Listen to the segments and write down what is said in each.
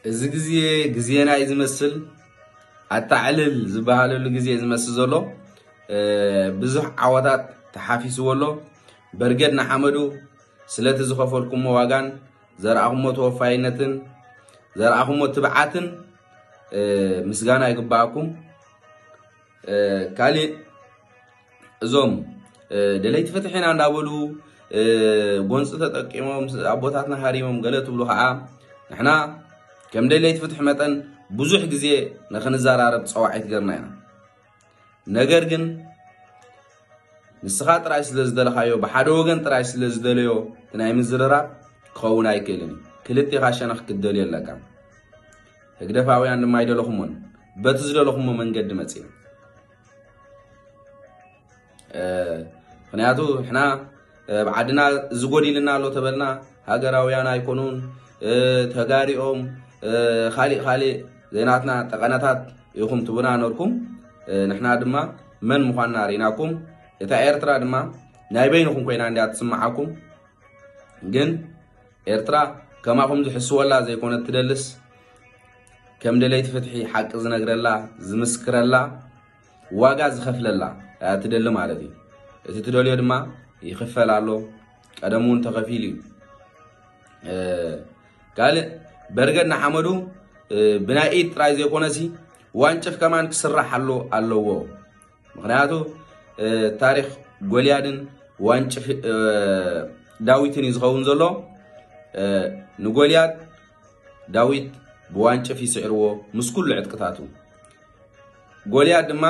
እዚ ግዜ ግዜና እዩ ዝመስል። ኣታዕልል ዝበሃለሉ ግዜ እዩ ዝመስል ዘሎ። ብዙሕ ዓወታት ተሓፊስዎ ኣሎ። በርገድ ንሓመዱ ስለቲ ዝኸፈልኩሞ ዋጋን ዘርኣኹሞ ተወፋይነትን ዘርኣኹሞ ትብዓትን ምስጋና ይግባኣኩም። ካሊእ እዞም ደለይቲ ፍትሕ ኢና እንዳበሉ ጎንፂ ተጠቂሞም ኣቦታትና ሃሪሞም ገለ ትብሉ ከዓ ንሕና ከም ደለይቲ ፍትሕ መጠን ብዙሕ ግዜ ንክንዘራረብ ፀዋዒት ገርና ኢና። ነገር ግን ንስኻ ጥራይ ስለ ዝደለኻዮ፣ ብሓደ ወገን ጥራይ ስለ ዝደለዮ እቲ ናይ ምዝርራብ ክኸውን ኣይክእልን እዩ። ክልቴኻ ሸነኽ ክትደልዮ ኣለካ። ህግደፋውያን ድማ ኣይደለኹሞን፣ በቲ ዝደለኹሞ መንገዲ መፂና። ምክንያቱ ንሕና ኣብ ዓድና ዝጎዲልና ኣሎ ተበልና ሃገራውያን ኣይኮኑን፣ ተጋሪኦም ካሊእ ካሊእ ዘይናትና ጠቐነታት ኢኹም ትብና ነርኩም። ንሕና ድማ መን ምዃንና ርኢናኩም። እታ ኤርትራ ድማ ናይ በይንኹም ኮይና እንዲያ ትስምዓኩም። ግን ኤርትራ ከማኹም ዝሕስወላ ዘይኮነት ትደልስ፣ ከም ደለይቲ ፍትሒ ሓቂ ዝነግረላ ዝምስክረላ ዋጋ ዝኸፍለላ እያ ትደሊ ማለት እዩ። እቲ ትደልዮ ድማ ይኽፈል ኣሎ፣ ቀደም እውን ተኸፊሉ እዩ። ካልእ በርገድ ንሓመዱ ብናይ ኢድ ጥራይ ዘይኮነሲ ዋንጭፍ ከማን ክስራሕ ኣሎ ኣለዎ። ምክንያቱ ታሪክ ጎልያድን ዋንጭፍ ዳዊትን እዩ ዝኸውን ዘሎ። ንጎልያድ ዳዊት ብዋንጭፍ ይስዕርዎ ምስ ኩሉ ዕጥቅታቱ። ጎልያድ ድማ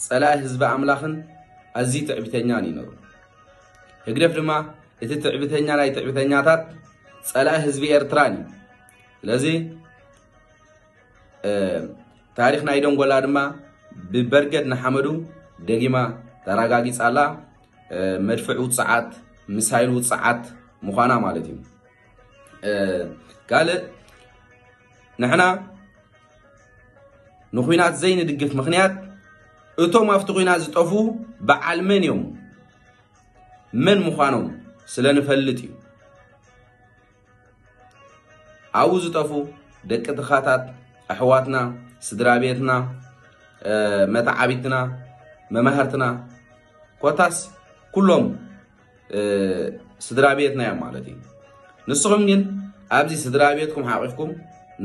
ጸላኢ ህዝቢ ኣምላኽን ኣዝዩ ትዕቢተኛን እዩ ነሩ። ህግደፍ ድማ እቲ ትዕቢተኛ ናይ ትዕቢተኛታት ጸላኢ ህዝቢ ኤርትራን እዩ። ስለዚ ታሪኽ ናይ ደንጎላ ድማ ብበርገድ ንሓመዱ ደጊማ ተረጋጊጻ ኣላ። መድፍዕ ውጽዓት፣ ሚሳይል ውጽዓት ምዃና ማለት እዩ። ካልእ ንሕና ንኹናት ዘይንድግፍ ምኽንያት እቶም ኣብቲ ኹናት ዝጠፉ በዓል መን እዮም መን ምዃኖም ስለ ንፈልጥ እዩ። ኣብኡ ዝጠፉ ደቂ ትኻታት ኣሕዋትና፣ ስድራ ቤትና፣ መተዓቢትና፣ መማህርትና ኮታስ ኩሎም ስድራ ቤትና እዮም ማለት እዩ። ንስኹም ግን ኣብዚ ስድራ ቤትኩም ሓቂፍኩም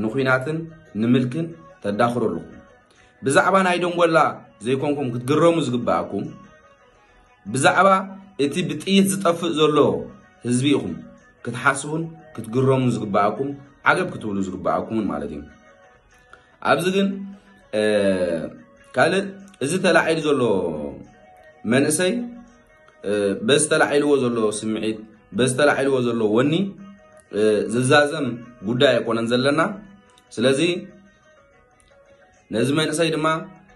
ንኹናትን ንምልክን ተዳኽሩ ኣለኹም። ብዛዕባ ናይ ደንጎላ ዘይኮንኩም ክትግረሙ ዝግባኣኩም ብዛዕባ እቲ ብጥይት ዝጠፍእ ዘሎ ህዝቢ ኢኹም ክትሓስቡን ክትግረሙ ዝግባኣኩም ዓገብ ክትብሉ ዝግባኣኩምን ማለት እዩ። ኣብዚ ግን ካልእ እዚ ተላዒሉ ዘሎ መንእሰይ በዚ ተላዒልዎ ዘሎ ስምዒት በዚ ተላዒልዎ ዘሎ ወኒ ዝዛዘም ጉዳይ ኣይኮነን ዘለና። ስለዚ ነዚ መንእሰይ ድማ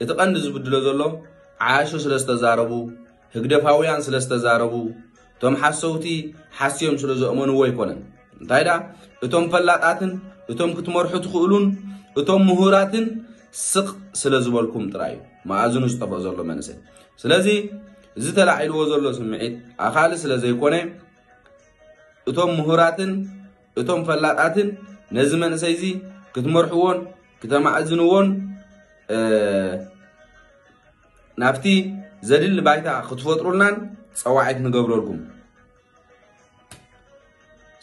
እቲ ቀንዲ ዝብድሎ ዘሎ ዓያሹ ስለ ዝተዛረቡ ህግደፋውያን ስለ ዝተዛረቡ እቶም ሓሰውቲ ሓስዮም ስለ ዘእመንዎ ኣይኮነን። እንታይ ደኣ እቶም ፈላጣትን እቶም ክትመርሑ ትኽእሉን እቶም ምሁራትን ስቕ ስለ ዝበልኩም ጥራይ እዩ መኣዝኑ ዝጠፍኦ ዘሎ መንእሰይ። ስለዚ እዚ ተላዒልዎ ዘሎ ስምዒት ኣኻሊ ስለ ዘይኮነ እቶም ምሁራትን እቶም ፈላጣትን ነዚ መንእሰይ እዚ ክትመርሕዎን ክተማእዝንዎን ናብቲ ዘድሊ ባይታ ክትፈጥሩልናን ጸዋዒት ንገብረልኩም።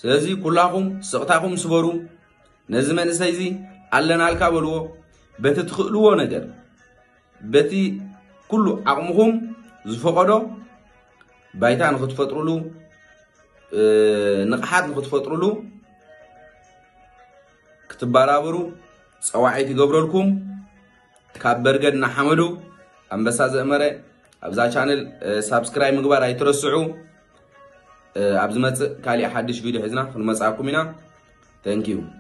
ስለዚ ኩላኹም ስቕታኹም ስበሩ። ነዚ መንእሰይ እዚ ኣለናልካ በልዎ። በቲ ትኽእልዎ ነገር በቲ ኩሉ ዓቕምኹም ዝፈቐዶ ባይታ ንክትፈጥሩሉ ንቕሓት ንክትፈጥሩሉ ክትበራበሩ ጸዋዒት ይገብረልኩም። ካብ በርገድ ንሓመዱ ኣንበሳ ዘእመረ ኣብዛ ቻነል ሳብስክራይብ ምግባር ኣይትረስዑ። ኣብ ዝመጽእ ካሊእ ሓድሽ ቪድዮ ሒዝና ክንመጽኣኩም ኢና። Thank you።